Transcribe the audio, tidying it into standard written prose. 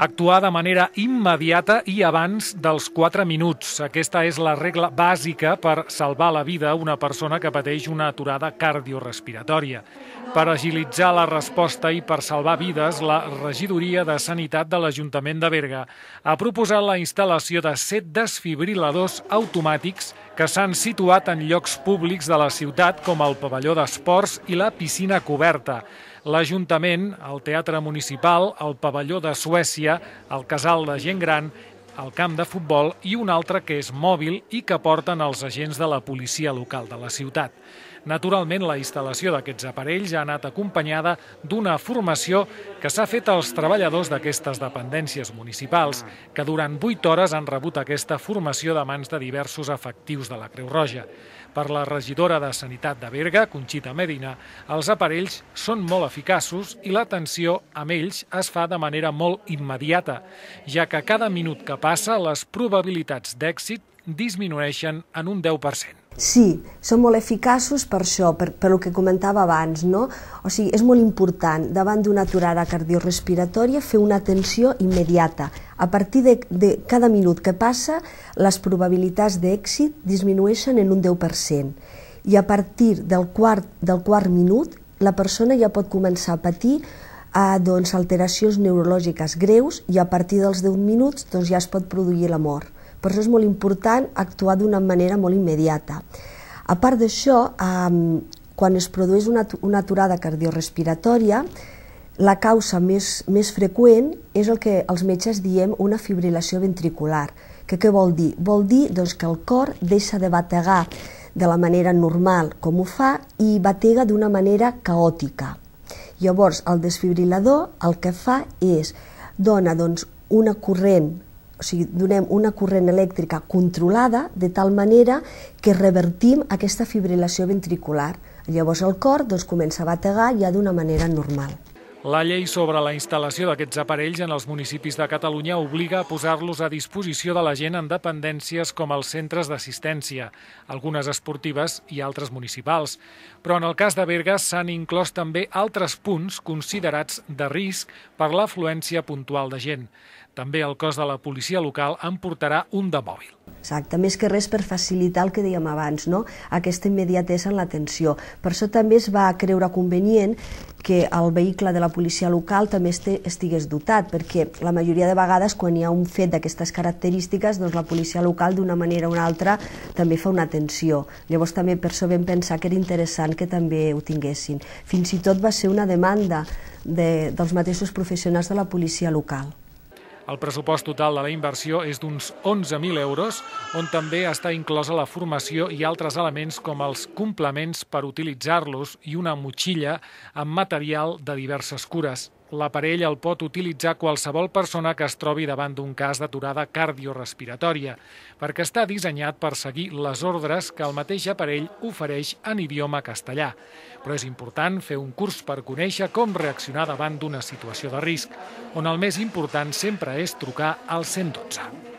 Actuar de manera immediata i abans dels 4 minuts. Aquesta és la regla bàsica per salvar la vida a una persona que pateix una aturada cardiorespiratòria. Per agilitzar la resposta i per salvar vides, la Regidoria de Sanitat de l'Ajuntament de Berga ha proposat la instal·lació de 7 desfibriladors automàtics que s'han situat en llocs públics de la ciutat com el pavelló d'esports i la piscina coberta. L'Ajuntament, el Teatre Municipal, el pavelló de Suècia, el casal de gent gran, el camp de futbol i un altre que és mòbil i que porten els agents de la policia local de la ciutat. Naturalment, la instal·lació d'aquests aparells ha anat acompanyada d'una formació que s'ha fet als treballadors d'aquestes dependències municipals, que durant 8 hores han rebut aquesta formació de mans de diversos efectius de la Creu Roja. Per la regidora de Sanitat de Berga, Conxita Medina, els aparells són molt eficaços i l'atenció amb ells es fa de manera molt immediata, ja que cada minut que passa les probabilitats d'èxit disminueixen en un 10%. Sí, són molt eficaços per això, per el que comentava abans, no? O sigui, és molt important, davant d'una aturada cardiorespiratòria, fer una atenció immediata. A partir de cada minut que passa, les probabilitats d'èxit disminueixen en un 10%. I a partir del quart minut, la persona ja pot començar a patir alteracions neurològiques greus i a partir dels 10 minuts ja es pot produir la mort. Per això és molt important actuar d'una manera molt immediata. A part d'això, quan es produeix una aturada cardiorespiratòria, la causa més freqüent és el que els metges diem una fibrilació ventricular. Què vol dir? Vol dir que el cor deixa de bategar de la manera normal com ho fa i batega d'una manera caòtica. Llavors, el desfibrilador el que fa és donar una corrent, o sigui, donem una corrent elèctrica controlada de tal manera que revertim aquesta fibrilació ventricular. Llavors el cor comença a bategar ja d'una manera normal. La llei sobre la instal·lació d'aquests aparells en els municipis de Catalunya obliga a posar-los a disposició de la gent en dependències com els centres d'assistència, algunes esportives i altres municipals. Però en el cas de Berga s'han inclòs també altres punts considerats de risc per l'afluència puntual de gent. També el cos de la policia local en portarà un de mòbil. Exacte, més que res per facilitar el que dèiem abans, aquesta immediatesa en l'atenció. Per això també es va creure convenient que el vehicle de la policia local també estigués dotat, perquè la majoria de vegades quan hi ha un fet d'aquestes característiques, la policia local d'una manera o una altra també fa una atenció. Llavors també per això vam pensar que era interessant que també ho tinguessin. Fins i tot va ser una demanda dels mateixos professionals de la policia local. El pressupost total de la inversió és d'uns 11.000 euros, on també està inclosa la formació i altres elements com els complements per utilitzar-los i una motxilla amb material de diverses cures. L'aparell el pot utilitzar qualsevol persona que es trobi davant d'un cas d'aturada cardiorespiratòria, perquè està dissenyat per seguir les ordres que el mateix aparell ofereix en idioma castellà. Però és important fer un curs per conèixer com reaccionar davant d'una situació de risc, on el més important sempre és trucar al 112.